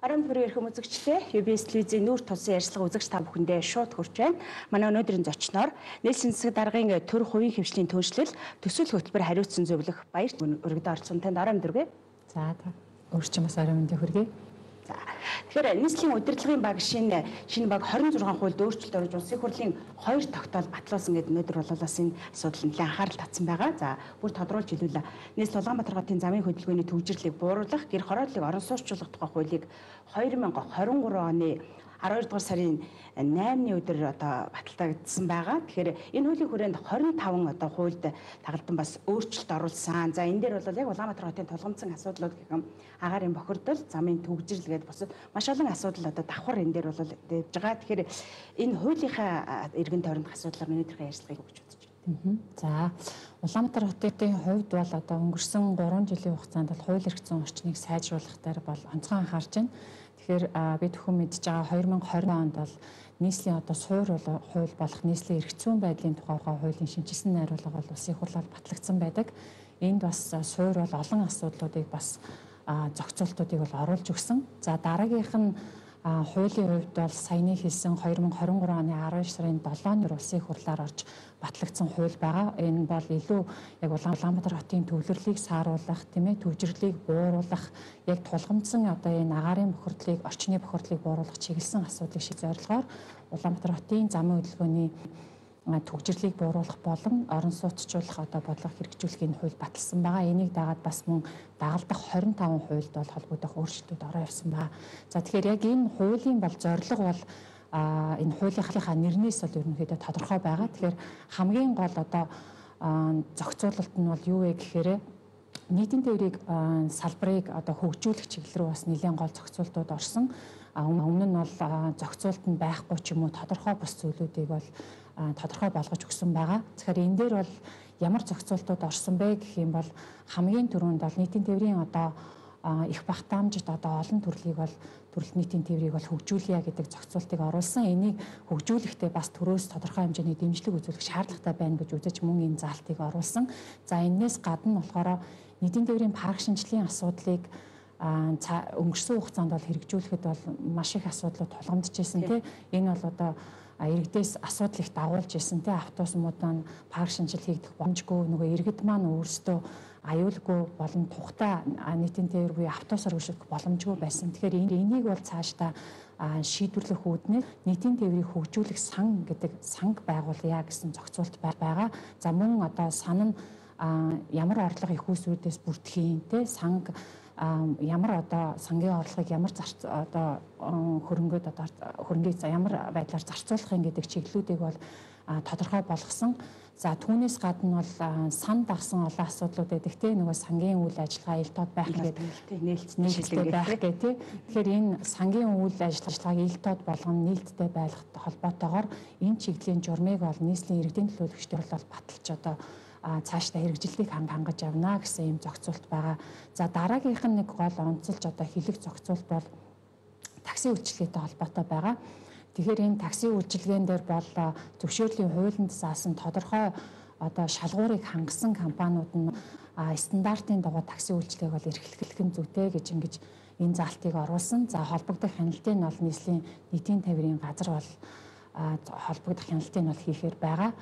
Арам бүрийн эрхэм үзэгчдээ UBS телевизийн нүүр тулсан ярилцлага үзэгч та бүхэндээ шууд хүрч байна. Манай өнөөдрийн зочноор нийслэлийн засаг даргын төр хувийн хвшлийн түншлэл төсөл хөтөлбөр хариуцсан зөвлөх баяр өргөдөө орсон танд арам дөрвөө. За өөрчн бас арам өндөө хүргэе. За тэгэхээр нийслэлийн удирдлагын баг шинэ баг 26 хуульд өөрчлөлт орж улсын хурлын 2 тогтоол батлуулсан гэдэг өнөөдөр бол бас энэ асуудал нэлээд анхаарал татсан байгаа. За бүр тодруулж хэлүүлээ. Нийслэл Улаанбаатар хотын замын хөдөлгөөний төвжирлийг бууруулах, гэр хороодлыг орон сууцчлах тухай хуулийг 2023 оны 12 дугаар сарын 8-ны өдөр баталгаагдсан байгаа. Тэгэхээр энэ хуулийн хүрээнд 25 хуульд тагалдан бас өөрчлөлт оруулсан. За энэ дээр бол яг Улаанбаатар хотын тулгымцсан асуудлууд гэхэм агаарын бохирдол, замын төвжирэл гэдэг бас маш олон асуудал давхар энэ дээр бол дэвж байгаа. Тэгэхээр энэ хуулийнхаа эргэн тойронд асуудлаар өнөөдрийн ярилцлагыг өгч үзэж байна. За Улаанбаатар хотын хувьд бол өнгөрсөн 3 жилийн хугацаанд бол хууль эрх зүйн орчныг сайжруулах дээр бол онцгой анхаарч байна. Тэгэхээр бид бүхэн мэдж байгаа 2020 онд бол нийслэлийн суур хууль болох нийслэлийн эрх зүйн байдлын тухай хуулийн шинжилсэн найруулга бол улсын хурлаар батлагдсан байдаг. Энд бас суур бол олон асуудлуудыг бас зохицуултуудыг бол оруулж өгсөн. За дараагийнх нь хуулийн хувьд бол саяны хэлсэн 2023 оны 12 сарын 7-нд улсын хурлаар орж батлагдсан хууль байгаа. Энэ бол илүү яг Улаанбаатар хотын төвлөрлийг сааруулах, төвжирлийг бууруулах, яг тулгамдсан энэ агаарын бохирдлыг, орчны бохирдлыг бууруулах чиглэсэн асуудлыг шийдэх зорилгоор Улаанбаатар хотын замын хөдөлгөөний төвжирлийг бууруулах болон орон сууцчлах бодлого хэрэгжүүлэхийн хууль баталсан байгаа. Энийг дагаад бас мөн дагалдах 25 хуульд бол холбогдох өөрчлөлтүүд ороо явсан байгаа. За тэгэхээр яг энэ хуулийн бол зорилго бол энэ хуулийнхаа нэрнээс бол ерөнхийдөө тодорхой байгаа. Тэгэхээр хамгийн гол зохицуулалт нь бол юу вэ гэхээр нийтийн тээврийг салбарыг хөгжүүлэх чиглэл рүү бас нэлээд гол зохицуултууд орсон. Өмнө нь бол зохицуулт нь байхгүй ч юм уу тодорхой бус зүйлүүдийг бол тодорхой болгож өгсөн байгаа. Тэгэхээр энэ дээр бол ямар зохицуултууд орсон бэ гэх юм бол хамгийн түрүүнд бол нийтийн тээврийн их багтаамжид олон төрлийн нийтийн тээврийг бол хөгжүүлье гэдэг зохицуултыг оруулсан. Энийг хөгжүүлэхдээ бас төрөөс тодорхой хэмжээний дэмжлэг үзүүлэх шаардлагатай байна гэж үзэж мөн энэ заалтыг оруулсан. За энэс гадна болохоор нийтийн тээврийн парк шинжилгээний асуудлыг өнгөрсөн хугацаанд бол хэрэгжүүлэхэд бол маш их асуудлууд тулгамдж ирсэн тийм. Энэ бол иргэдээс асуудал их дагуулж ирсэн тийм. Автобусуудаа парк шинжил хийгдэх боломжгүй, нөгөө иргэд маань өөрсдөө аюулгүй болон тухтай нийтийн тээвэр буюу автобусаар өршөх боломжгүй байсан. Тэгэхээр энийг бол цаашдаа шийдвэрлэх үүднээр нийтийн тээврийг хөгжүүлэх сан гэдэг санг байгуулъя гэсэн зохицуулт байгаа. За мөн сан нь ямар орлого их үүсвэрүүдээс бүрдхийн те санг ямар сангийн орлогыг ямар хөрөнгөд ямар байдлаар зарцуулахын гэдэг чиглэлүүдийг бол тодорхой болгосон. За түүнээс гадна бол сан дагсан олон асуудлууд байдаг тийм нөгөө сангийн үйл ажиллагаа ил тод байх гэдэг нээлттэй байх гэх тийм. Тэгэхээр энэ сангийн үйл ажиллагааг ил тод болгоно нээлттэй байх холбоотойгоор энэ чиглэлийн журмыг бол нийслэлийн иргэдийн төлөөлөгчдөр бол баталж цаашдаа хэрэгжилтийг хангаж явна гэсэн юм зохицуулт байгаа. За дараагийнх нь нэг гол онцолж хэлэх зохицуулт бол такси үйлчилгээтэй холбоотой байгаа. Тэгэхээр энэ такси үйлчилгээнд дээр бол зөвшөөрлийн хуулинд заасан тодорхой шалгуурыг хангасан компаниуд нь стандартын дагуу такси үйлчилгээг бол эрхлэх нь зүйтэй гэж ингэж энэ заалтыг оруулсан. За холбогдох хяналтыг нь бол нийтийн тээврийн газар бол холбогдох хяналтыг нь бол хийхээр байгаа.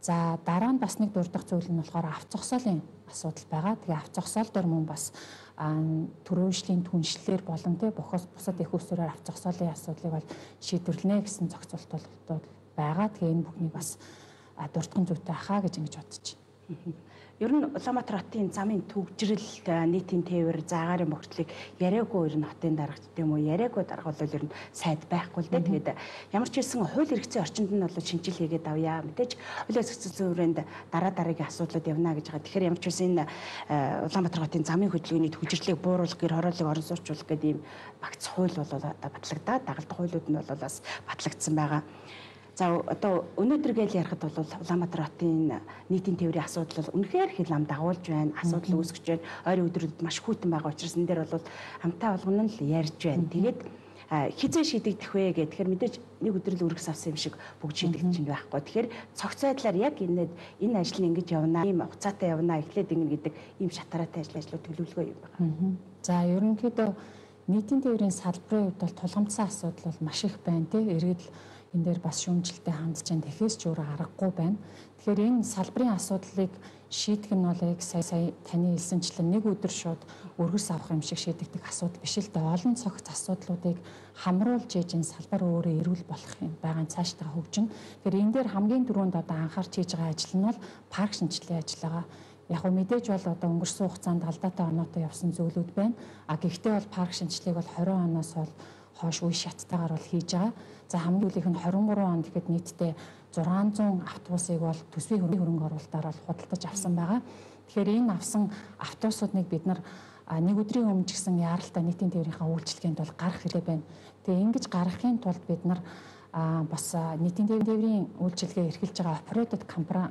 За дараа нь бас нэг дурдах зүйл нь болохоор авто зогсоолын асуудал байгаа. Тэгээ авто зогсоол дээр мөн бас төрөөжлийн түншлэлээр болон бусад их усраар авто зогсоолын асуудлыг бол шийдвэрлэнэ гэсэн зохицуултууд байгаа. Тэгээ энэ бүхнийг бас дурдхан зүйтэй ахаа гэж ингэж бодож байна. Ер нь Улаанбаатар хотын замын төвжирэл, нийтийн тээвэр, агаарын бохирдлыг яриаггүй ер нь хотын дарга гэдэм үү, яриаггүй дарга бол ер нь сайд байхгүй л дээ. Тэгээд ямар ч хэлсэн хууль эрх зүйн орчинд нь бол шинжил хийгээд авъя. Мэдээж хуулийн зохицуулалтын хүрээнд дараагийн асуудлууд явна гэж байгаа. Тэгэхээр ямар ч хэлсэн энэ Улаанбаатар хотын замын хөдөлгөөний төвжирлийг бууруулах, гэр хорооллыг орон сууцруулах гэдэг ийм багц хууль бол батлагдаад дагалдах хуулиуд нь бол бас батлагдсан байгаа. За өнөөдөр гээл ярихад бол Улаанбаатар хотын нийтийн тээврийн асуудал бол үнэхээр хэл ам дагуулж байна. Асуудал үүсгэж байна. Ойрын өдрүүдэд маш хүйтэн байгаа учраас энэ дээр бол хамтаа болгоно л ярьж байна. Тэгээд хизээ шийдэгдэх вэ гэх. Тэгэхээр мэдээж нэг өдрөл үргэс авсан юм шиг бүгд шийдэгдэж чинь байхгүй. Тэгэхээр цогц байдлаар яг энэ ажил нь ингэж явна, ийм хугацаатай явна, эхлээд ингэнэ гэдэг ийм шатараатай ажлууд төлөвлөгөө юм байна. За ерөнхийдөө нийтийн тээврийн салбарын хувьд бол тулгамдсан асуудал бол маш их байна тий. Иргэд энэ дээр бас шүүмжлэлтэй хандж байгаа. Тэхээс ч өөр аргагүй байна. Тэгэхээр энэ салбарын асуудлыг шийдэх нь бол яг сая таны хэлсэнчлэн нэг өдөр шууд өргөс авах юм шиг шийдэгдэх асуудал биш л дээ. Олон цогц асуудлуудыг хамруулж ээж энэ салбар өөрөө эрүүл болох юм байгаа цаашдаа хөгжин. Тэгэхээр энэ дээр хамгийн түрүүнд одоо анхаарч хийж байгаа ажил нь бол парк шинжилгээ ажил байгаа. Яг нь мэдээж бол одоо өнгөрсөн хугацаанд алдаатай оноотой явсан зүйлүүд байна. Гэхдээ бол парк шинжилгээг бол 20 оноос бол хойш үе шаттайгаар бол хийж байгаа. За хамгийн үлийнх нь 23 онд гэхэд нийтдээ 600 автобусыг бол төсвийн хөрөнгө оруулалтаар бол худалдаж авсан байгаа. Тэгэхээр энэ авсан автобусуудыг бид нар нэг өдрийн өмнө ч гэсэн яаралтай нийтийн тээврийнхаа үйлчилгээнд бол гарах хэрэгтэй байна. Тэгээ ингэж гаргахын тулд бид нар бас нийтийн тээврийн үйлчилгээ эрхэлж байгаа оператор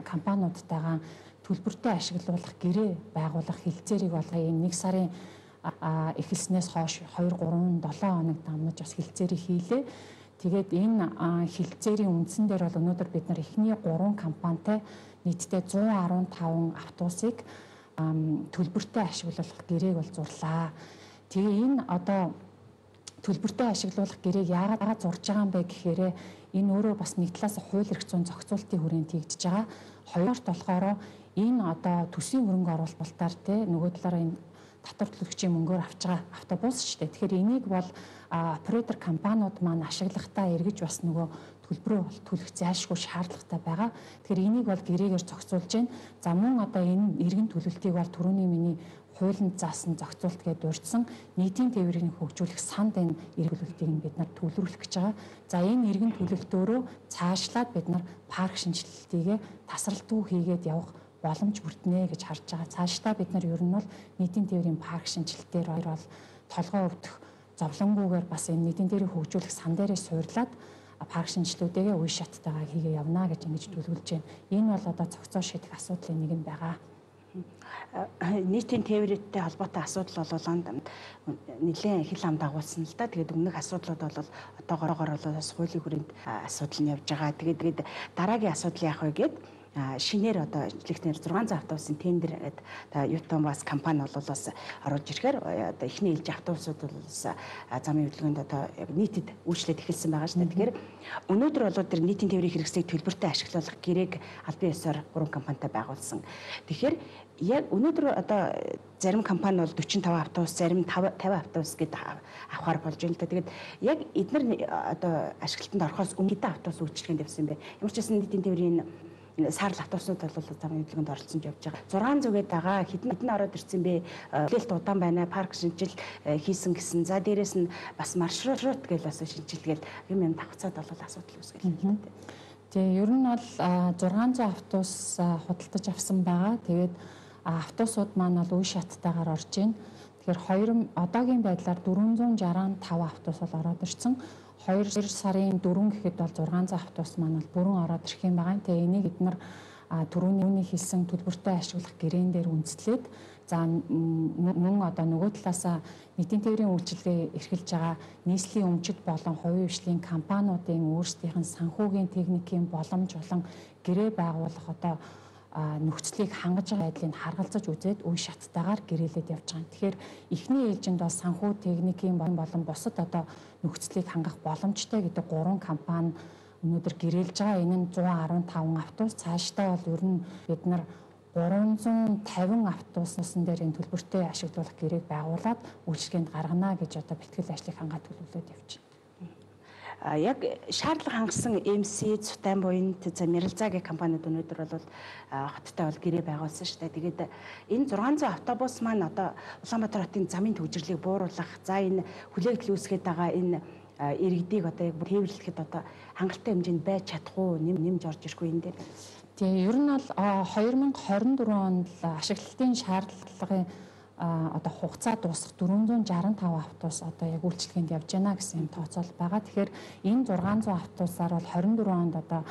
компаниудтайгаа төлбөртэй ашиглуулах гэрээ байгуулах хилцээрийг бол энэ 1 сарын эхэлснээс хойш 2, 3, 7 хоног дамнаж бас хилцээрийг хийлээ. Тэгээд энэ хилцээрийн үндсэн дээр бол өнөөдөр бид нар эхний 3 компанитай нийтдээ 115 автобусыг төлбөртэй ашиглуулах гэрээг бол зурлаа. Тэгээ энэ одоо төлбөртэй ашиглуулах гэрээг яагаад зурж байгаа юм бэ гэхээр энэ өөрөө бас нэг талаас хууль эрх зүйн зохицуултын хүрээнд хийгдэж байгаа. Хоёрт болохоор энэ одоо төсвийн хөрөнгө оруулалтаар нөгөө талаараа энэ татвар төлөгчийн мөнгөөр авч байгаа автобус шүү дээ. Тэгэхээр энийг бол оператор компаниуд маань ашиглахдаа эргэж бас нөгөө төлбөрөө төлөх зайлшгүй шаардлагатай байгаа. Тэгэхээр энийг бол гэрээгээр зохицуулж байна. За мөн одоо энэ иргэн төлөлтийг бол түрүүний миний хуулинд заасан зохицуулт гэдээ дурдсан нийтийн тээврийг хөгжүүлэх санд энэ иргэн төлөлтийг бид нар төлөвлөх гэж байгаа. За энэ иргэн төлөлтөөрөө цаашлаад бид нар парк шинжилэлтийгээ тасралтгүй хийгээд явах боломж бүрднэ гэж харж байгаа. Цаашдаа бид нар ер нь бол нийтийн тээврийн парк шинжилтээр бол толгой өвдөх зовлонгүйгээр бас энэ нийтийн тээврийг хөгжүүлэх сан дээрээ суурлаад парк шинжилтүүдээ үе шаттайгаа хийгээ явна гэж ингэж төлөвлөж байна. Энэ бол одоо цогцоо шийдэх асуудлын нэг нь байгаа. Нийтийн тээвртэй холбоотой асуудал бол нэлээд хил ам дагуулсан л да. Тэгээд өмнөх асуудлууд бол одоогоор бол бас хуулийн хүрээнд асуудал нь явж байгаа. Тэгээд дараагийн асуудал яах вэ гэд шинээр одоо жилийнхнэр 600 автобусын тендер гэдэг Ютон бас компани бол бас оруулж ирэхээр одоо эхний ээлж автобусууд бол замын хөдөлгөөнд одоо яг нийтэд үйлчлээд эхэлсэн байгаа шүү дээ. Тэгэхээр өнөөдөр бол тэр нийтийн тээврийн хэрэгслийг төлбөртэй ашиглуулах гэрээг албан ёсоор 3 компанитай байгуулсан. Тэгэхээр яг өнөөдөр одоо зарим компани бол 45 автобус, зарим 50 автобус гэдэг авахар болж байна л да. Тэгээд яг эдгээр одоо ашиглалтанд орохоос өмнө хэдэн автобус үйлчлэгэнд явсан бэ? Ямар ч байсан нийтийн тээврийн саарл автобуснууд бол замын хөдөлгөөнд оролцсон явж байгаа. 600- гээд байгаа хэдэн ороод ирсэн бэ? Хүлээлт удаан байна. Парк шинжил хийсэн гэсэн. За дээрэс нь бас маршрут гэж бас шинжилгээл юм давхцаад бол асуудал үүсгэл. Тэгээ ер нь бол 600 автобус худалдаж авсан байгаа. Тэгээд автобусууд маань бол үе шаттайгаар орж байна. Тэгэхээр одоогийн байдлаар 465 автобус бол ороод ирсэн. 2 сарын 4 гэхэд бол 600 автобус маань бол бүрэн ороод ирэх юм байгаа. Тэгээ энийг бид нар түрүүний хэлсэн төлбөртэй ашиглах гэрээн дээр үндэслээд за мөн одоо нөгөө талаасаа нийтийн тээврийн үйлчилгээ эрхэлж байгаа нийслэлийн өмчит болон хувийн хвшлийн компаниудын өөрсдийнх нь санхүүгийн техникийн боломж болон гэрээ байгуулах одоо нөхцөлийг хангаж байгаа байдлыг харгалзаж үзээд үе шаттайгаар гэрээлээд явж байгаа. Тэгэхээр эхний ээлжинд бол санхүү техникийн болон бусад одоо нөхцөлийг хангах боломжтой гэдэг 3 компани өнөөдөр гэрээлж байгаа. Энэ нь 115 автобус. Цаашдаа бол ер нь бид нар 350 автобусын дээр энэ төлбөртэй ашиглуулах гэрээг байгуулад үйлчлэгэнд гаргана гэж одоо бэлтгэл ажлыг хангаад төлөвлөд явж байна. Яг шаардлага хангасан MC, Цутайн буйнт, Мэрэлзаа гэх компаниуд өнөөдөр бол хоттой бол гэрээ байгуулсан шүү дээ. Тэгээд энэ 600 автобус маань одоо Улаанбаатар хотын замын төвжирлийг бууруулах, за энэ хүлээгдэл үүсгээд байгаа энэ иргэдийг одоо яг тээвэрлэхэд одоо хангалттай хэмжээнд байж чадах уу, нэмж орж ирэх үү энэ дээр. Тэгээ ер нь бол 2024 онд ашиглалтын шаардлагын одоо хугацаа дуусах 465 автобус одоо яг үйлчлэгэнд явж байна гэсэн юм тооцоол байгаа. Тэгэхээр энэ 600 автобусаар бол 24 онд одоо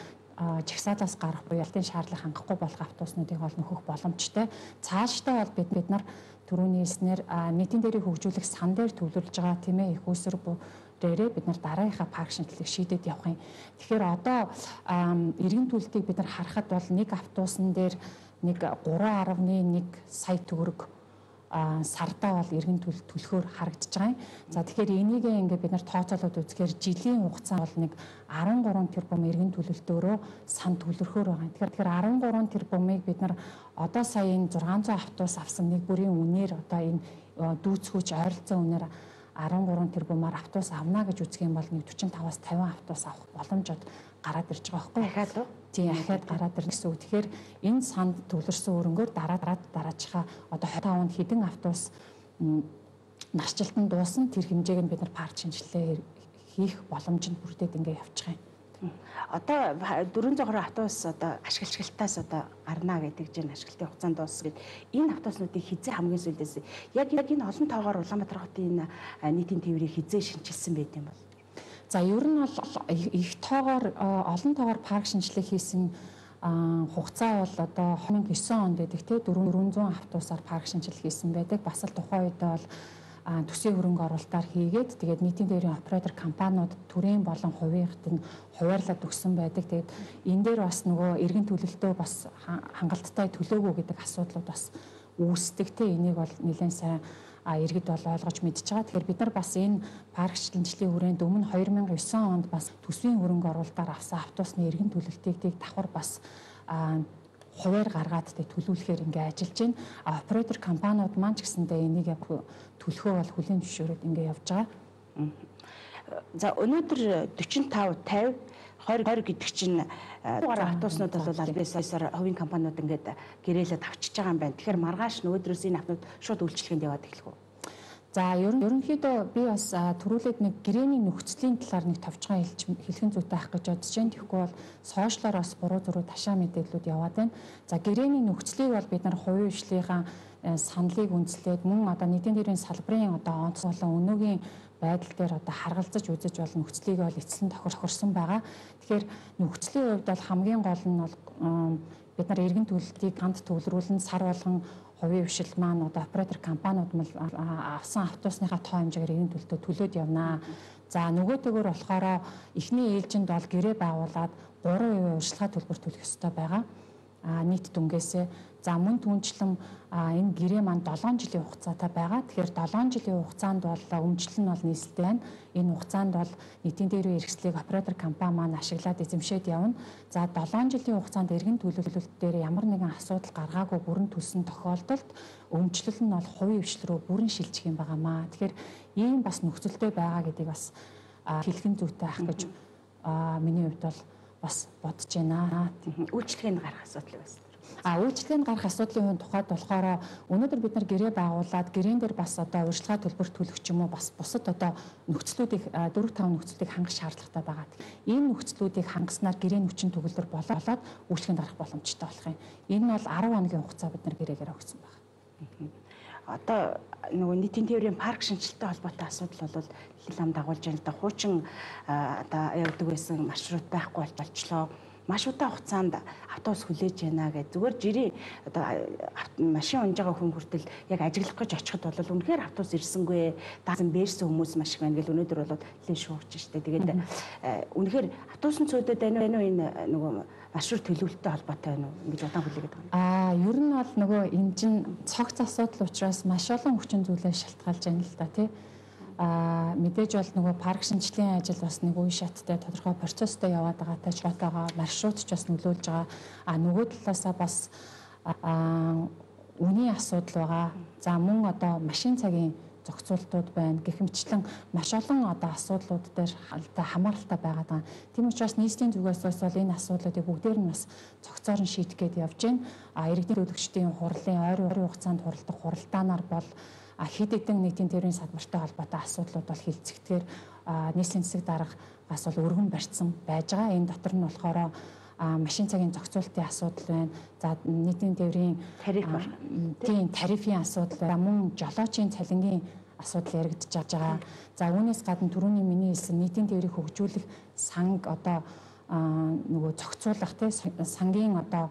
жагсаалаас гарах буюу ялтын шаардлага хангахгүй болох автобуснуудыг бол нөхөх боломжтой. Цаашдаа бол бид нар түрүүний хэлснээр нийтийн тээврийг хөгжүүлэх сан дээр төвлөрж байгаа тийм ээ их усэр дээрээ бид нар дараагийнхаа парк шинжилгээг шийдээд явах юм. Тэгэхээр одоо иргэн төлөлтийг бид нар харахад бол нэг автобусан дээр нэг 3.1 сая төгрөг сардаа бол иргэн төлөхөөр харагдаж байгаа юм. За тэгэхээр энийг ингээд бид нар тооцоолоод үзэхээр жилийн хугацаа бол нэг 13 тэрбум иргэн төлөлтөөрөө сан төлөрхөөр байгаа. Тэгэхээр 13 тэрбумыг бид нар одоо сая энэ 600 автобус авсан нэг бүрийн үнээр одоо энэ дүүцгүүч ойролцоо үнээр 13 тэрбумаар автобус авна гэж үзэх юм бол нэг 45-аас 50 автобус авах боломжод гараад ирж байгаа байхгүй юу? Дахиад уу? Тийм, ахаад гараад ирнэ гэсэн үг. Тэгэхээр энэ санд төвлөрсөн өрөнгөөр дараачихаа одоо 25 онд хэдэн автобус нарчлалтанд дуусан тэр хэмжээг нь бид нар парк шинжилгээ хийх боломжинд бүрдээд ингээ явж байгаа юм. Одоо 420 автобус одоо ашиглалтаас одоо гарна гэдэг чинь ашиглалтын хугацаанд дуусах гэд энэ автобуснуудыг хизээ хамгийн сүүлдээс яг энэ олон тоогоор Улаанбаатар хотын нийтийн тээврийг хизээ шинжилсэн байт юм бол. За ер нь бол их тоогоор олон тоогоор парк шинжилгээ хийсэн хугацаа бол одоо 2009 онд байдаг те 400 автобусаар парк шинжилгээ хийсэн байдаг. Бас л тухайн үед бол төсвийн хөрөнгө оруулалтаар хийгээд тэгээд нийтийн тээврийн оператор компаниуд төрийн болон хувийнхт нь хуваарлаад өгсөн байдаг. Тэгээд энэ дээр бас нөгөө иргэн төлөлтөө бас хангалттай төлөөгөө гэдэг асуудлууд бас үүсдэг те. Энийг бол нэлээд сайн иргэд бол ойлгож мэдж байгаа. Тэгэхээр бид нар бас энэ парк шинжилгээний хүрээнд өмнө 2009 онд бас төсвийн хөрөнгө оруулалтаар авсан автобусны иргэн төлөлтийг давхар бас хуваар гаргаад төлөвлөхөр ингээ ажиллаж байна. Оператор компаниуд маань ч гэсэндээ энийг төлөхөө бол хүлээн зөвшөөрөөд ингээ явж байгаа. За өнөөдөр 45 50 20 гэдэг чинь автобуснууд бол аль биесээр хувийн компаниуд ингээд гэрээлээд авчиж байгаа юм байна. Тэгэхээр маргааш өнөөдрөөс энэ автобус шууд үйлчлэгэнд яваад эхлэх үү? За ерөнхийдөө би бас түрүүлээд нэг гэрээний нөхцөлийн талаар нэг товчхон хэлхэн зүйтэй авах гэж бодож байна. Тэгэхгүй бол сошиалоор бас буруу зуруу ташаа мэдээллүүд яваад байна. За гэрээний нөхцөлийг бол бид нар хувийн хвшлийн саналыг үндэслээд мөн одоо нийтийн тээврийн салбарын одоо онц болон өнөөгийн байдал дээр одоо харгалзаж үзэж бол нөхцөлийг бол эцэлэн тохирсон байгаа. Тэгэхээр нөхцөлийн хувьд бол хамгийн гол нь бол бид нар иргэн төлөлтийг ганд төвлөрүүлэн сар болгон хувийн хвшил маань одоо оператор компаниуд мэл авсан автобусныхаа тоо хэмжээгээр иргэн төлөлтөө төлөөд явнаа. За нөгөөтэйгөр болохоор эхний ээлжинд бол гэрээ байгуулад 3% урьдчилгаа төлбөр төлөх ёстой байгаа. Нийт дүнгээсээ за мөн түнчлэн энэ гэрээ маань 7 жилийн хугацаатай байгаа. Тэгэхээр 7 жилийн хугацаанд бол өмчлөл нь бол нийслэлтэй байна. Энэ хугацаанд бол нийтийн тээврийн хэрэгслийг оператор компани маань ашиглаад эзэмшээд явна. За 7 жилийн хугацаанд иргэн төлөвлөлт дээр ямар нэгэн асуудал гаргаагүй бүрэн төлсөн тохиолдолд өмчлөл нь бол хувийн хвшил рүү бүрэн шилжих юм байгаамаа. Тэгэхээр ийм бас нөхцөлтэй байгаа гэдгийг бас хэлхэн зүйтэй ах гэж миний хувьд бол бас бодож байна. Үйлчлэгэнд гарах асуудал байсан. Үйлчлэгэнд гарах асуудлын тухайд болохоор өнөөдөр бид нар гэрээ байгуулад гэрээн дээр бас одоо урьдчилгаа төлбөр төлөх ч юм уу бас бусад одоо нөхцлүүдийг 4-5 нөхцлүүдийг хангах шаардлагатай байгаа. Ийм нөхцлүүдийг хангаснаар гэрээний хүчин төгөлдөр болоод үйлчлэгэнд гарах боломжтой болох юм. Энэ нь бол 10 хоногийн хугацаа бид нар гэрээгээр өгсөн байна. Одоо нөгөө нийтийн тээврийн парк шинжилттэй холбоотой асуудал бол хил ам дагуулж байна л да. Хуучин одоо явдаг байсан маршрут байхгүй болчихлоо. Маш удаан хугацаанд автобус хүлээж байна гэж зүгээр жирийн одоо машин унж байгаа хүн хүртэл яг ажиглах гэж очиход бол үнэхээр автобус ирсэнгүй даасан бээрсэн хүмүүс маш их байна гэл өнөөдөр бол лээ шуурч штэ. Тэгээд үнэхээр автобусны цөөдөд байна уу энэ нөгөө маршрут төлөвлөлттэй холбоотой байна уу ингэж удаан хүлээгээд байгаа юм. Ер нь бол нөгөө энэ чинь цогц асуудал учраас маш олон хүчин зүйлээ шалтгаалж байна л да тий. Мэдээж бол нөгөө парк шинжилгээний ажил бас нэг үе шаттай тодорхой процесстэй яваад байгаатай ч батгаа маршрут ч бас нөлөөлж байгаа. Нөгөө талаасаа бас үнийн асуудал байгаа. За мөн одоо машин цагийн зохицуултууд байна. Гэх мэтчлэн маш олон одоо асуудлууд дээр хамааралтай байгаа. Тийм учраас нийслэлийн зүгээс бол энэ асуудлуудыг бүгдээр нь бас цогцоор нь шийдэх гээд явж байна. Иргэдийн төлөвчдийн хурлын ойрын хугацаанд хуралдах хуралдаанаар бол хэд хэдэн нийтийн тээврийн салбартай холбоотой асуудлууд бол хилцэгдгээр нийслэлийн засаг даргаас бол өргөн барьсан байж байгаа. Энэ дотор нь болохоор машин цагийн зохицуултын асуудал байна. За нийтийн тээврийн тарифын асуудал байна. Мөн жолоочийн цалингийн асуудал яригдж байгаа. За үүнээс гадна түрүүний миний хэлсэн нийтийн тээврийг хөгжүүлэх санг одоо нөгөө зохицуулах тий сангийн одоо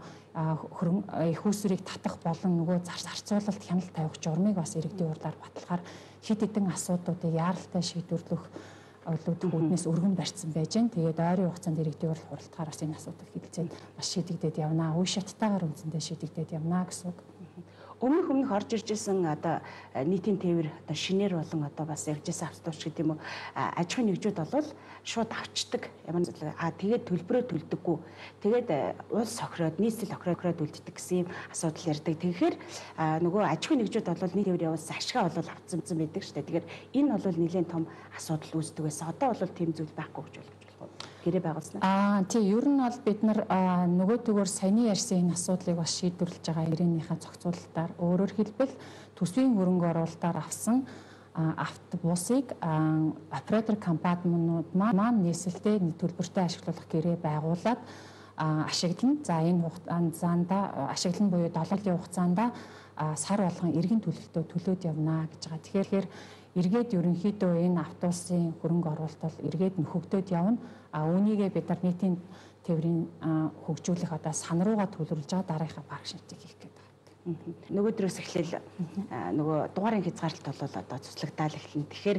их усрыг татах болон нөгөө зарцуулалт хяналт тавих журмыг бас иргэдийн урдаар баталгаар хэд хэдэн асуудлуудыг яаралтай шийдвэрлэх үүднээс өргөн барьсан байж гэн. Тэгээд ойрын хугацаанд иргэдийн урд хуралдахаар бас энэ асуудал хилцээд бас шийдэгдээд явнаа. Үе шаттайгаар үндсэндээ шийдэгдээд явнаа гэсэн үг. өмнөх орж ирж исэн одоо нийтийн тээвэр одоо шинээр болон одоо бас явжсэн автобус гэдэг юм уу аж ахуйн нэгжүүд бол шууд авчдаг ямар зүйл тэгээд төлбөрөө төлдөггүй тэгээд улс охироод нийслэл охироод үлддэг гэсэн юм асуудал ярьдаг. Тэгэхээр нөгөө аж ахуйн нэгжүүд бол нийт тээвэр явуулсан ашгаа бол авцсан байдаг шүү дээ. Тэгэхээр энэ бол нэлээд том асуудал үүсдэг байсан. Одоо бол тийм зүйл байхгүй гэж болох гэрээ байгуулснаа. Тийм ер нь бол бид нар нөгөөдөгөр саяны ярьсан энэ асуудлыг бас шийдвэрлэж байгаа ирээнийхээ зохицуулалтаар өөрөөр хэлбэл төсвийн хөрөнгө оруулалтаар авсан автобусыг оператор компаниуд маань нийслэлтэй төлбөртэй ашиглуулах гэрээ байгуулад ашиглана. За энэ хугацаанд ашиглан буюу 7 өдрийн хугацаанд сар болгон эргэн төлөлтөө төлөөд явна гэж байгаа. Тэгэхээр эргээд ерөнхийдөө энэ автобусын хөрөнгө оруулалт бол эргээд нөхөгдөд явна. Үүнийгээ бид нар нийтийн тээврийн хөгжүүлэх одоо сан руугаа төлөвлөж байгаа дараагийн парк шинжтэй хийх гэдэг байна. Нөгөөдрөөс эхлээл нөгөө дугаарын хязгаарлалт бол одоо цуцлагдаал эхэлнэ. Тэгэхээр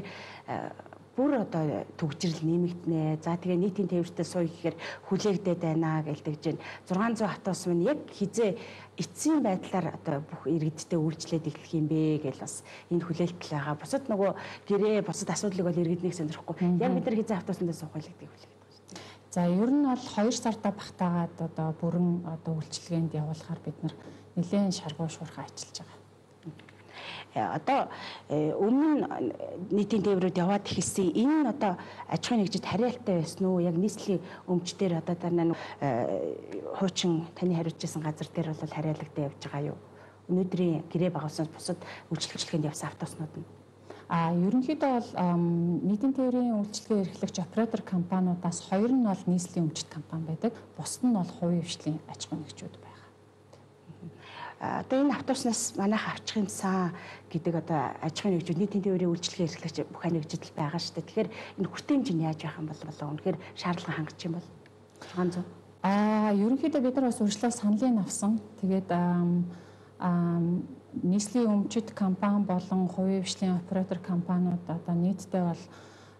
бүр одоо төгжрөл нэмэгдэнэ. За тэгээ нийтийн тээвэртэй сууя гэхээр хүлээгдээд байна гэлдэж байна. 600 автобус маань яг хизээ эцсийн байдлаар одоо бүх иргэдтэй үйлчлээд эхлэх юм бэ гэж бас энэ хүлээлтэл байгаа. Бусад нөгөө гэрээ бусад асуудлыг бол иргэднийг сонирхгүй. Яг бид нар хизээ автобусандаа суух вэ гэдэг хүлээлт. За ер нь бол 2 сарда багтаагаад одоо бүрэн одоо үйлчилгээнд явуулахаар бид нар нэлээд шаргуу шуурхай ажиллаж байгаа. Одоо өмнө нь нийтийн тээврүүд яваад ихэлсэн энэ нь одоо аж ахуйн нэгжид хариалтай байсан уу? Яг нийслэлийн өмчтөр одоо дараа хуучин таны хариуцсан газар дээр бол хариалагдаа явж байгаа юу? Өнөөдрийн гэрээ байгуулсан бусад үйлчлэгээнд явсан автобуснууд нь ерөнхийдөө бол нийтийн тээврийн үйлчилгээ эрхлэгч оператор компаниудаас 2 нь бол нийслэлийн өмчт компани байдаг. Бусад нь бол хувийн хвшлийн аж ахуйн нэгжүүд байгаа. Одоо энэ автобуснаас манайх авчих юмсан гэдэг одоо аж ахуйн нэгжүүд нийтийн тээврийн үйлчилгээ эрхлэгч бүх нэгжид байгаа шүү дээ. Тэгэхээр энэ хүртээмж нь яаж байх юм бол үнэхээр шаардлага хангах юм бол 600. Ерөнхийдөө бид нар бас урьдчилан саналыг авсан. Тэгээд нийслэлийн өмчит компани болон хувийн хвшлийн оператор компаниуд одоо нийтдээ бол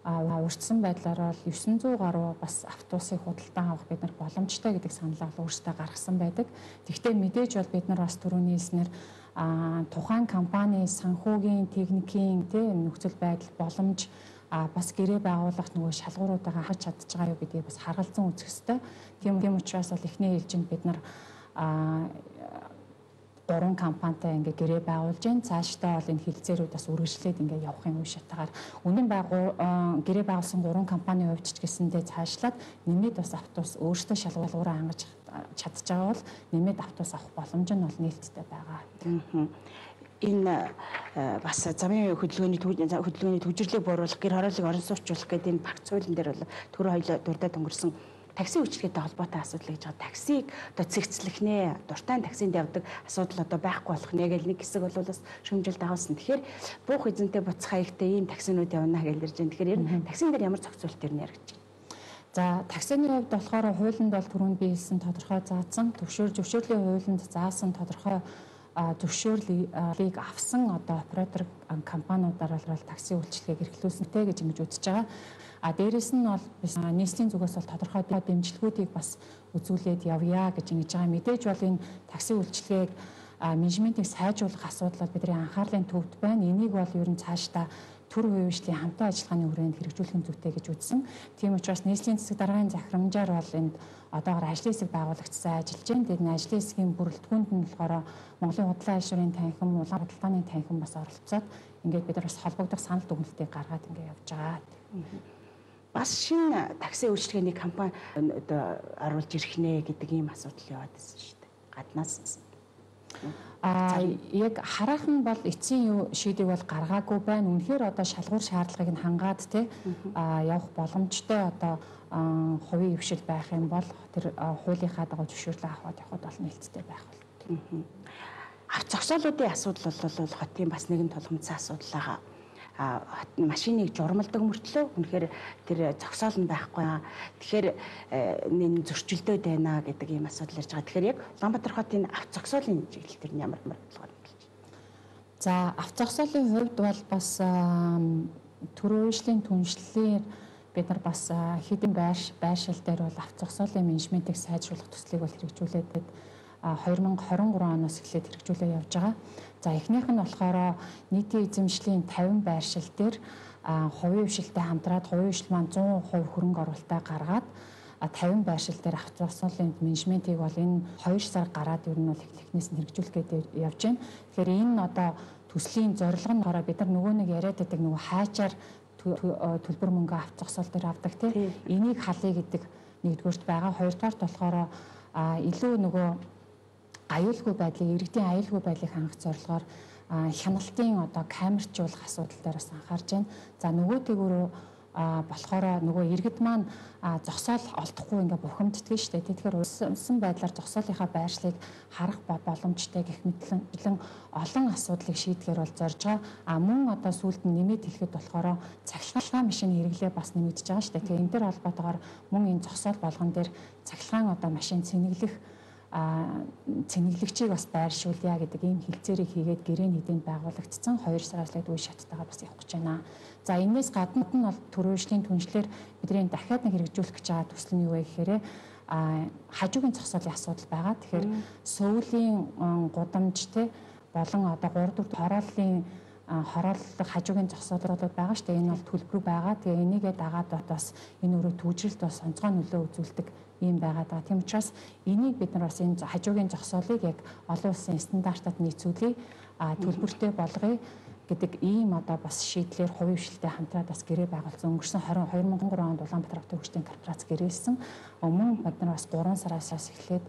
урьдчилсан байдлаар бол 900 гаруй бас автобусыг худалдан авах бид нар боломжтой гэдэг саналаа өөрсдөө гаргасан байдаг. Тэгэхдээ мэдээж бол бид нар бас түрүүний хэлснээр тухайн компани санхүүгийн техникийн нөхцөл байдал боломж бас гэрээ байгуулах нөгөө шалгууруудаа хаж чадж байгаа юу гэдгийг бас харгалзан үзэх ёстой. Тийм учраас бол эхний ээлжинд бид нар 3 компанитай ингээ гэрээ байгуулж байна. Цаашдаа бол энэ хилцээрүүд бас үргэлжлээд ингээ явах юм уу шатагаар. Үнэн гэрээ байгуулсан 3 компанийн хувьд ч гэсэндээ цаашлаад нэмээд бас автобус өөрсдөө шалгуулгаараа хангаж чадж байгаа бол нэмээд автобус авах боломж нь бол нээлттэй байгаа. Энэ бас замын хөдөлгөөний төвжирлийг бууруулах, гэр хорооллыг орон сууцуулах гэдэг энэ багц хуулийн дээр бол түрүү хоёул дурдаад өнгөрсөн такси үйлчилгээтэй холбоотой асуудал гэж байгаа. Таксиг одоо цэгцлэх нэ, дуртай таксинд явдаг асуудал одоо байхгүй болох нэ гэл нэг хэсэг бол бас шүүмжилт агуулсан. Тэгэхээр буух эзэнтэй буцах хаягтай ийм таксинууд явна гэж ярьж байна. Тэгэхээр ер нь таксин дээр ямар зохицуулт ер нь яригдж байна? За таксины хувьд болохоор хуулинд бол түрүүнд би хэлсэн тодорхой заасан, зөвшөөрлийн хуулинд заасан тодорхой зөвшөөрлийг авсан одоо оператор компаниудаар бол такси үйлчилгээг эрхлүүлсэнтэй гэж ингэж үзэж байгаа. Дээрэс нь бол нийслэлийн зүгээс бол тодорхой дэмжлэгүүдийг бас үзүүлээд явъя гэж ингэж байгаа. Мэдээж бол энэ такси үйлчилгээг менежментийг сайжруулах асуудал бол бидний анхаарлын төвд байна. Энийг бол ер нь цаашдаа төр хувийн хвшлийн хамтаа ажиллагааны хүрээнд хэрэгжүүлэх нь зүйтэй гэж үзсэн. Тийм учраас нийслэлийн засаг даргын захирамжаар бол энд одоогоор ажлын хэсэг байгуулагдсан ажиллаж байна. Тэгээд энэ ажлын хэсгийн бүрэлдэхүүнд нь болохоор Монголын худлаа айлшуурын танхим, улаан худалдааны танхим бас оролцоод ингээд бид нар бас холбогдох санал дүгнэлтийг гаргаад ингээд явж байгаа. Бас шинэ такси үйлчилгээний компани одоо оруулж ирэх нэ гэдэг ийм асуудал яваад байсан шүү дээ. Гаднаас. Яг хараахан бол эцсийн шийдийг бол гаргаагүй байна. Үнэхээр одоо шалгуур шаардлагыг нь хангаад явах боломжтой одоо хувийн хвшил байх юм бол тэр хуулийнхаа дагуу зөвшөөрлөө аваад явхад бол нээлттэй байх бол. Авто зогсоолуудын асуудал бол хотын бас нэгэн тулгымцсан асуудал байгаа. Машиныг журмалдаг мөртлөө үнэхээр тэр зогсоол нь байхгүй. Тэгэхээр энэ зөрчилдөд байна гэдэг ийм асуудал ярьж байгаа. Тэгэхээр яг Улаанбаатар хотын авто зогсоолын чиглэл төр нь ямар бодлого болж байна? За авто зогсоолын хувьд бол бас төрийн үйлчлийн түншлэлээр бид нар бас хэдэн байршил дээр бол авто зогсоолын менежментийг сайжруулах төслийг бол хэрэгжүүлээд 2023 оноос эхлээд хэрэгжүүлээ явж байгаа. За эхнийх нь болохоор нийтийн эзэмшлийн 50 байршил дээр хувийн хвшилтэй хамтраад хувийн хвшил маань 100% хөрөнгө оруулалтаа гаргаад 50 байршил дээр автозогсоолын менежментийг бол энэ 2 сар гараад ер нь бол эхнээс нь хэрэгжүүлэх гээд явж байна. Тэгэхээр энэ одоо төслийн зорилго нь болохоор бид нар нөгөө нэг яриад байдаг нөгөө хайчаар төлбөр мөнгө автозогсоол дээр авдаг тийм энийг халъя гэдэг нэгдүгээрт байгаа. Хоёрдугаарт болохоор илүү нөгөө аюулгүй байдлыг, иргэдийн аюулгүй байдлыг хангах зорилгоор хяналтын одоо камерчуулах асуудал дээр бас анхаарч байна. За нөгөө тэгүрөө болохоор нөгөө иргэд маань зогсоол олдохгүй ингээ бухимддаг шүү дээ. Тэгэхээр улсын байдлаар зогсоолынхаа байршлыг харах боломжтой гэх мэтлэн олон асуудлыг шийдэхээр бол зорж байгаа. Мөн одоо сүүлд нь нэмээд хэлэхэд болохоор цахилгаан машины хэрэглээ бас нэмэгдэж байгаа шүү дээ. Тэгэхээр энэ төр холбоотойгоор мөн энэ зогсоол болгон дээр цахилгаан одоо машин цэнэглэгчийг бас байршуулъя гэдэг ийм хэлцээрийг хийгээд гэрээний хэдэнд байгуулагдсан 2 сараас л үе шаттайгаар бас явах гэж байна. За энэс гадна нь бол төрөөжлийн түншлэр бидний дахиад нэг хэрэгжүүлэх гэж байгаа төсөл нь юу вэ гэхээр хажуугийн зогсоолын асуудал байгаа. Тэгэхээр сүүлийн гудамжтэй болон одоо 3-4 хорооллох хажуугийн зогсоолууд байгаа шүү дээ. Энэ бол төлбөр байгаа. Тэгээ энийгээ дагаад бас энэ өөрөө түүжрэлт бас онцгой нөлөө үзүүлдэг ийм байгаа даа. Тийм учраас энийг бид нар бас энэ хажуугийн зогсоолыг яг олон улсын стандартад нийцүүлээ, төлбөртэй болгоё гэдэг ийм одоо бас шийдлэр хувийн хвшилтэй хамтраад бас гэрээ байгуулсан. Өнгөрсөн 2023 онд Улаанбаатар хотын хөгжлийн корпорац гэрээлсэн. Мөн бид нар бас 3 сараас эхлээд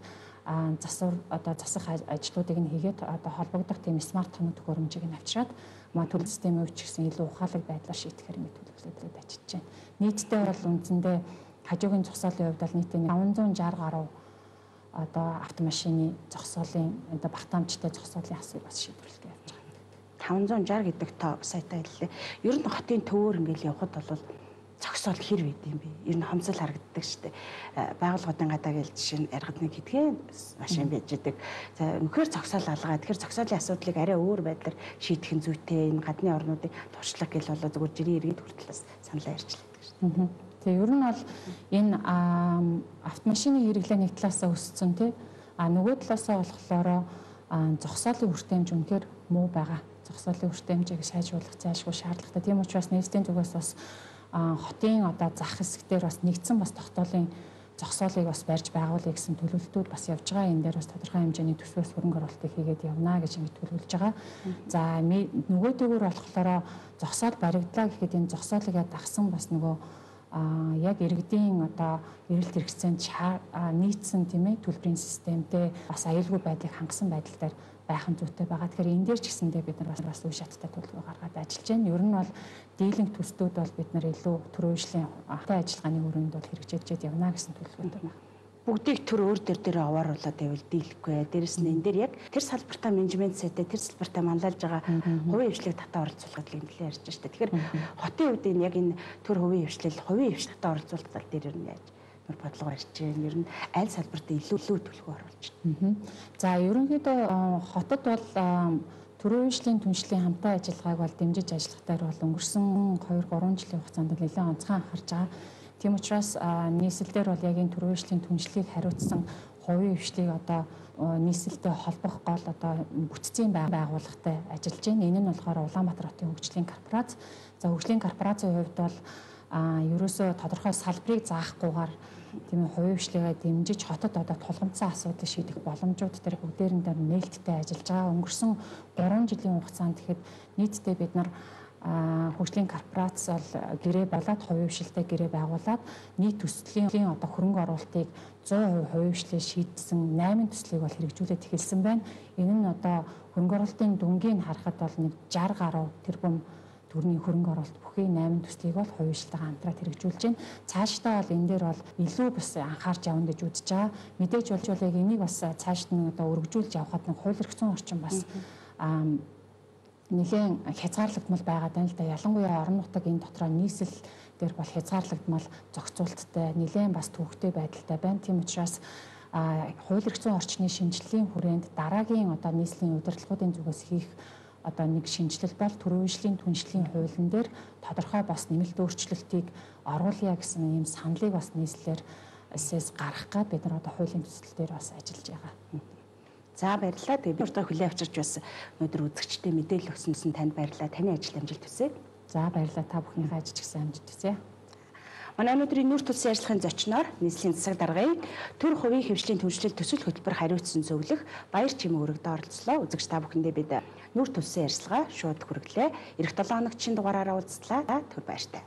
засах ажлуудыг нь хийгээд одоо холбогдох тийм смарт тоног төхөөрөмжийг нь авчираад төлөв системийн өвч гэсэн илүү ухаалаг байдлаар шийдэхээр ингэ төлөвлөлөд ажиллаж байна. Нийтдээ бол үндсэндээ хажуугийн зогсоолын хувьд бол нийтдээ 560 гаруй одоо автомашины зогсоолын одоо багтаамжтай зогсоолын асуудал бас шийдвэрлэж явж байгаа. 560 гэдэг тоо саятай хэллээ. Ер нь хотын төвөөр ингээл явхад бол зогсоол хэр байд юм бэ? Ер нь хомсол харагддаг шүү дээ. Байгууллагын гадаа гээл жишээ нь яргад нэг хэдхэн машин байж идэг. За үнэхээр зогсоол алгаа. Тэгэхээр зогсоолын асуудлыг арай өөр байдлаар шийдэх нь зүйтэй. Энэ гадны орнуудын туршлага гэл болоо зөвхөн жирийн иргэд хүртэл саналаа ярьжлаадаг шүү дээ. Тэгээ ер нь бол энэ автомашины хэрэглээ нэг талаасаа өссөн тий. Нөгөө талаасаа болохоор зогсоолын хүртээмж үнэхээр муу байгаа. Зогсоолын хүртээмжийг сайжруулах зайлшгүй шаардлагатай. Тийм учраас нийслэлийн зүгээс бас хотын одоо зах хэсгээр бас нэгдсэн бас тогтоолын зогсоолыг бас барьж байгуулъя гэсэн төлөвлөлтүүд бас явж байгаа. Энэ дээр бас тодорхой хэмжээний төсвөөс хөрөнгө оруулалтыг хийгээд явна гэж ингэ төлөвлөж байгаа. За нөгөө төгөөр болохоор зогсоол баригдлаа гэхэд энэ зогсоолыг дагсан бас нөгөө яг иргэдийн одоо эрэлт хэрэгцээнд нийцсэн тийм ээ төлбөрийн системтэй бас аюулгүй байдлыг хангасан байдал дээр байхын зүйтэй байгаа. Тэгэхээр энэ дээр ч гэсэндээ бид нар бас үе шаттай төлөвлөгөө гаргаад ажиллаж байна. Ер нь бол дийлэнх төслүүд бол бид нар илүү төрөөжлийн ахтай ажиллагааны өрөөнд бол хэрэгжүүлж явна гэсэн төлөвлөгөөтэй байна. Бүгдийг төр өөр дээр овооруулаад байвал дийлэхгүй. Дээрэс нь энэ дээр яг тэр салбартаа менежмент сайтай тэр салбартаа манлайлж байгаа хувийн хвшлийг татаа оролцуулахад л нэлээд ярьж штэ. Тэгэхээр хотын үед энэ яг энэ төр хувийн хвшлэл татаа оролцуулах тал дээр ер нь яаж бодлого барьж байна. Ер нь аль салбартаа илүү төлөвлөгөө оруулж байна. За ерөнхийдөө хотод бол төрийн хвшлийн түншлийн хамтаа ажиллагааг бол дэмжиж ажиллах дээр бол өнгөрсөн 2-3 жилийн хугацаанд нэлээд онцгой анхаарч байгаа. Тийм учраас нийслэлдэр бол яг энэ төрийн хвшлийн түншлийг хариуцсан хувийн хвшлийг одоо нийслэлтэй холбох гол одоо бүтцийн байгууллагатай ажиллаж байна. Энэ нь болохоор Улаанбаатар хотын хөгжлийн корпорац. За хөгжлийн корпорацийн хувьд бол ерөөсөө тодорхой салбарыг заахгүйгээр тийм хувийн хвшлийгээ дэмжиж хотод одоо тулгамдсан асуудлыг шийдэх боломжууд дээр бүгдээрэн дээр нээлттэй ажиллаж байгаа. Өнгөрсөн 3 жилийн хугацаанд тэгэхэд нийтдээ бид нар хөгжлийн корпорац бол гэрээ болоод хувийн хвшилтэй гэрээ байгуулад нийт төслийн одоо хөрөнгө оруулалтыг 100% хувийн хвшлээр шийдсэн 8 төслийг бол хэрэгжүүлээд эхэлсэн байна. Энэ нь одоо хөрөнгө оруулалтын дүнгийг харахад бол нэг 60 гаруй тэрбум төгрөгийн хөрөнгө оруулалт бүхий 8 төслийг бол хувийн хвшилтэйгээ хамтраад хэрэгжүүлж байна. Цаашдаа бол энэ дээр бол илүү бас анхаарч явна гэж үзэж байгаа. Мэдээж болж яг энийг бас цаашд нь одоо өргөжүүлж явхад нэг хууль эрхцэн орчин бас нэгэн хязгаарлагдмал байгаад байна л да. Ялангуяа орон нутаг энэ дотроо нийслэл дээр бол хязгаарлагдмал зохицуулттай нэлээд бас төвөгтэй байдалтай байна. Тийм учраас хууль эрхцэн орчны шинжилгээний хүрээнд дараагийн одоо нийслэлийн удирдлагуудын зүгээс хийх одоо нэг шинжилэл бол төрийн хвшлийн түншлийн хуулийн дээр тодорхой бас нэмэлт өөрчлөлтийг оруулъя гэсэн ийм саналыг бас нийслэлээр гаргах гад бид нар одоо хуулийн төсөл дээр бас ажиллаж байгаа. За баярлалаа. Тэгээ би урьдчилан хүлээн авчирч бас өнөөдөр үзэгчдэд мэдээлэл өгсөн танд баярлалаа. Таны ажил амжилт хүсье. За баярлалаа. Та бүхнийхээ ажил ч гэсэн амжилт хүсье. Манай өнөөдрийн нүүр тулсын ажиллагааны зочноор нийслэлийн засаг даргын төр хувийн хэвшлийн түвшилт төсөл хөтөлбөр хариуцсан зөвлөх Баяр Чимээ өргөдөө оролцлоо. Үзэгч та бүхэндээ бид нүүр тулсын ажиллагаа шууд хүргэлээ. Эх 7 хоногт шинэ дугаараараа уулзлаа. Түр баяртай.